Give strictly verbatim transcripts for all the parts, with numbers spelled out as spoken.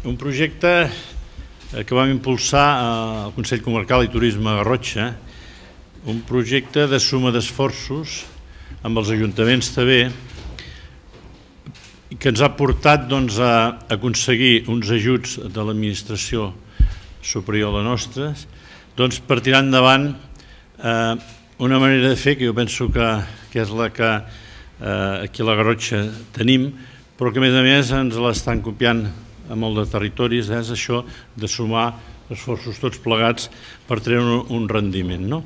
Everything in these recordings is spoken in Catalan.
un projecte que vam impulsar al Consell Comarcal i Turisme Garrotxa, un projecte de suma d'esforços amb els ajuntaments també, que ens ha portat a aconseguir uns ajuts de l'administració superior a la nostra per tirar endavant una manera de fer que jo penso que és la que aquí a la Garrotxa tenim, però que a més a més ens l'estan copiant a molt de territoris, és això de sumar esforços tots plegats per treure un rendiment.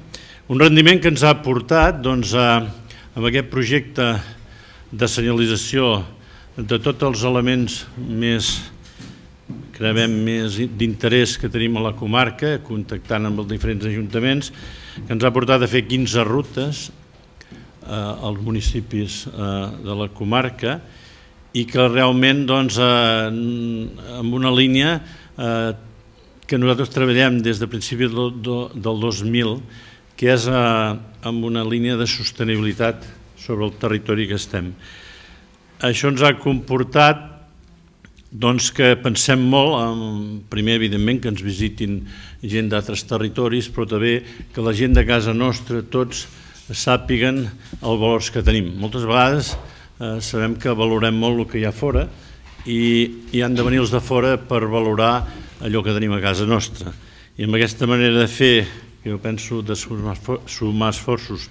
Un rendiment que ens ha portat amb aquest projecte de senyalització de tots els elements més d'interès que tenim a la comarca, contactant amb els diferents ajuntaments, que ens ha portat a fer quinze rutes als municipis de la comarca i que realment amb una línia que nosaltres treballem des de principis del dos mil, que és amb una línia de sostenibilitat sobre el territori que estem. Això ens ha comportat que pensem molt, primer evidentment que ens visitin gent d'altres territoris, però també que la gent de casa nostra, tots, sàpiguen els valors que tenim. Moltes vegades sabem que valorem molt el que hi ha fora i han de venir els de fora per valorar allò que tenim a casa nostra. I amb aquesta manera de fer, que jo penso de sumar esforços,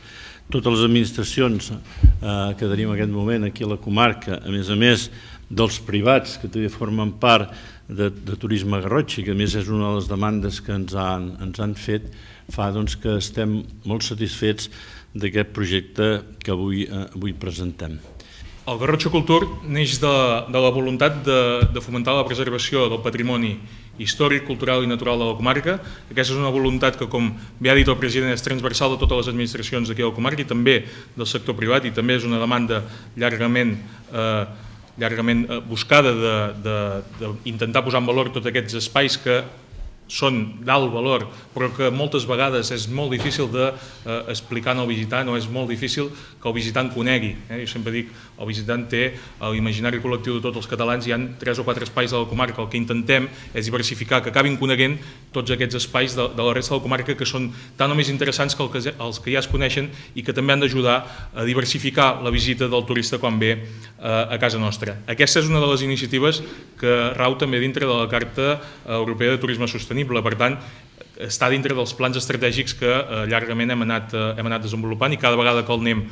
totes les administracions que tenim en aquest moment aquí a la comarca, a més a més dels privats que també formen part de Turisme Garrotxa, que a més és una de les demandes que ens han fet, fa que estem molt satisfets d'aquest projecte que avui presentem. El Garrotxa Cultur neix de la voluntat de fomentar la preservació del patrimoni històric, cultural i natural de la comarca. Aquesta és una voluntat que, com bé ha dit el president, és transversal de totes les administracions d'aquí a la comarca i també del sector privat, i també és una demanda llargament llargament buscada d'intentar posar en valor tots aquests espais que són d'alt valor, però que moltes vegades és molt difícil d'explicar al visitant o és molt difícil que el visitant conegui. Jo sempre dic, el visitant té a l'imaginari col·lectiu de tots els catalans, hi ha tres o quatre espais de la comarca. El que intentem és diversificar, que acabin coneguent tots aquests espais de la resta de la comarca que són tan o més interessants que els que ja es coneixen i que també han d'ajudar a diversificar la visita del turista quan ve a casa nostra. Aquesta és una de les iniciatives que rau també dintre de la Carta Europea de Turisme Sostenible. Per tant, està dintre dels plans estratègics que llargament hem anat desenvolupant i cada vegada que el anem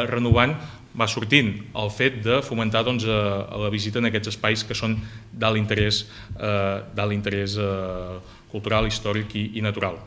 renovant va sortint el fet de fomentar la visita en aquests espais que són d'alt interès cultural, històric i natural.